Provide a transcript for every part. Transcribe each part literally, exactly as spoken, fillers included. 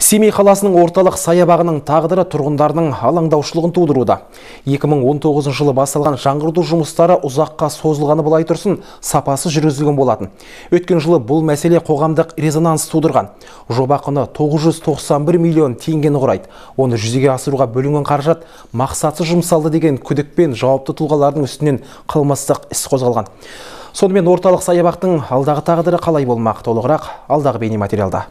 Семей қаласының орталық саябағының тағдыры тұрғындардың алаңдаушылығын тудыруда. екі мың он тоғызыншы жылы басталған жаңғырту жұмыстары ұзаққа созылғаны былай тұрсын, сапасы жүргізілген болатын. Өткен жылы бұл мәселе қоғамдық резонанс тудырған. Жоба құны тоғыз жүз тоқсан бір миллион теңгені құрайды. Оны жүзеге асыруға бөлінген қаражат мақсатсыз жұмсалды деген күдікпен жауапты тұлғалардың үстінен қылмыстық іс қозғалған. Сонымен орталық саябақтың алдағы тағдыры қалай болмақ? Толығырақ алдағы бейнематериалда.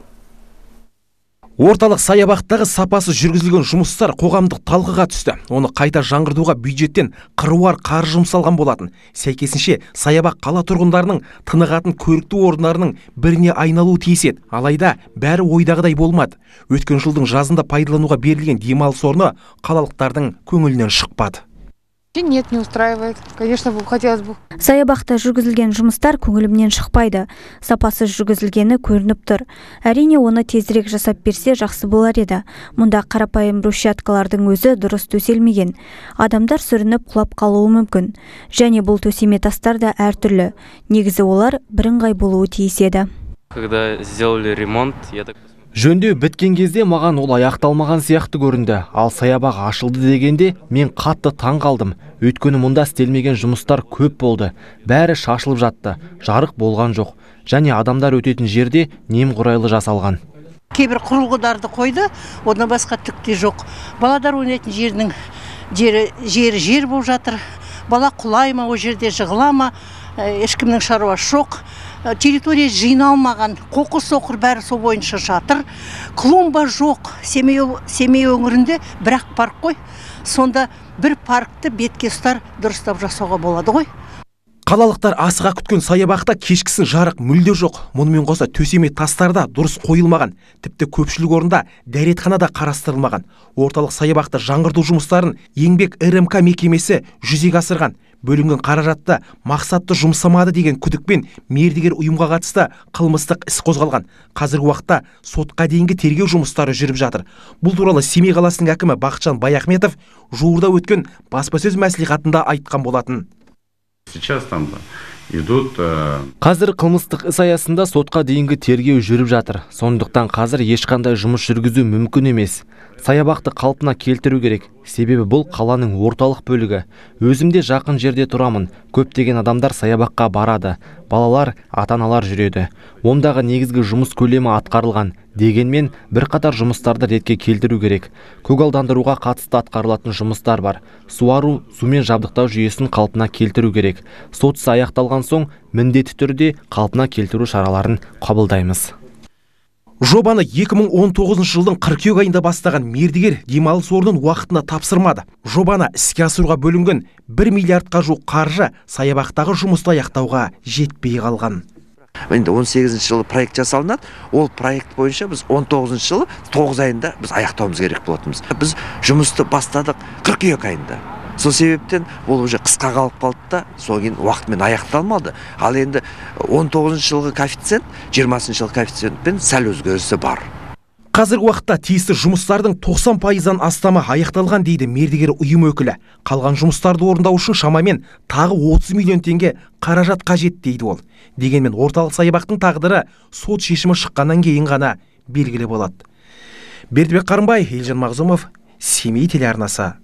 Орталық саябақтағы сапасы жүргізілген жұмыстар қоғамдық талқыға түсті. Оны қайта жаңғыртуға бюджеттен қыруар қаржы жұмсалған болатын. Сәйкесінше саябақ қала тұрғындарының тынығатын көрікті орындарының біріне айналуы тиіс еді. Алайда бәрі ойдағыдай болмады. Өткен жылдың жазында пайдалануға берілген демалыс орны қалалықтардың көңілінен шықпады. Нет, не устраивает. Конечно, хотелось бы. Саябақта жүргізілген жұмыстар көңілімнен шықпайды. Сапасыз жүргізілгені көрініп тұр. Әрине, оны тезірек жасап берсе жақсы болар еді. Мұнда қарапайым брусчаткалардың өзі дұрыс төселмеген. Адамдар сүрініп құлап қалуы мүмкін. Және бұл төсеме тастар да әртүрлі. Негізі олар бірыңғай болуы тиіс еді. Когда сделали ремонт, я так Жөндеу біткен кезде маған ол аяқталмаған сияқты көрінді. Ал саябақ ашылды дегенде мен қатты таң қалдым. Өйткені мұнда істелмеген жұмыстар көп болды. Бәрі шашылып жатты. Жарық болған жоқ. Және адамдар өтетін жерде немқұрайлы жасалған. Кейбір құрылғыларды қойды, одан басқа түкте жоқ. Баладар ойнайтын жердің жері жері жер болып жатыр. Бала құлай ма, о жерде жығыла ма, ешкімнің шаруасы жоқ. Территория жиналмаған, қоқыс соқыр бәрі сол бойынша жатыр. Клумба жоқ. Семей, Семей өңірінде бірақ парк қой. Сонда бір паркты бетке ұстар дұрыстап жасауға болады ғой. Қалалықтар асыға күткен саябақта кешкісін жарық мүлде жоқ. Мұнымен қоса төсеме тастарда дұрыс қойылмаған. Тіпті көпшілік орында дәретхана да қарастырылмаған. Орталық саябақта жаңғырту жұмыстарын еңбек РМК мекемесі жүзеге асырған. Бөлінген қаражатты мақсатты жұмсамады деген күдікпен мердігер ұйымға қатысты қылмыстық іс қозғалған. Қазіргі уақытта сотқа дейінгі тергеу жұмыстары жүріп жатыр. Бұл туралы Семей қаласының әкімі Бақытжан Баяхметов жуырда өткен баспасөз мәслихатында айтқан болатын. Сейчас там идут. Қазір қылмыстық іс аясында сотқа дейінгі тергеу жүріп жатыр. Сондықтан қазір ешқандай жұмыс жүргізу мүмкін емес. Саябақты қалпына келтіру керек. Себебі бұл қаланың орталық бөлігі. Өзімде жақын жерде тұрамын. Көптеген адамдар саябаққа барады. Балалар, ата-аналар жүреді. Ондағы негізгі жұмыс көлемі атқарылған. Дегенмен бірқатар жұмыстарды ретке келтіру керек. Көгалдандыруға қатысты атқарылатын жұмыстар бар. Суару, сумен жабдықтау жүйесін қалпына келтіру керек. Сот ісі аяқталған соң міндетті түрде қалпына келтіру шараларын қабылдаймыз. Жобаны екі мың он тоғызыншы жылдың қыркүйек айында бастаған мердігер демалыс орнын уақытында тапсырмады. Жобаны іске асыруға бөлінген бір миллиардқа жуық қаржы саябақтағы жұмысты аяқтауға жетпей қалған. Енді он сегізінші жылы проект жасалынады. Ол проект бойынша біз он тоғызыншы жылы тоғыз айында біз аяқтауымыз керек болатынбыз. Біз жұмысты бастадық қыркүйек айында. Сол себептен ол уже қысқа қалып қалды да, сол кейін уақытымен аяқталмады. Ал енді он тоғызыншы жылғы коэффициент жиырмасыншы жылғы коэффициентпен сәл өзгерісі бар. Қазіргі уақытта тиісті жұмыстардың тоқсан пайыздан астамы аяқталған дейді мердігер ұйым өкілі. Қалған жұмыстарды орындау үшін шамамен тағы отыз миллион теңге қаражат қажет дейді ол. Дегенмен орталық саябақтың тағдыры сот шешімі шыққаннан кейін ғана белгілі болады. Бердібек Қарымбай, Елжан Мағзумов, Семей телеарнасы.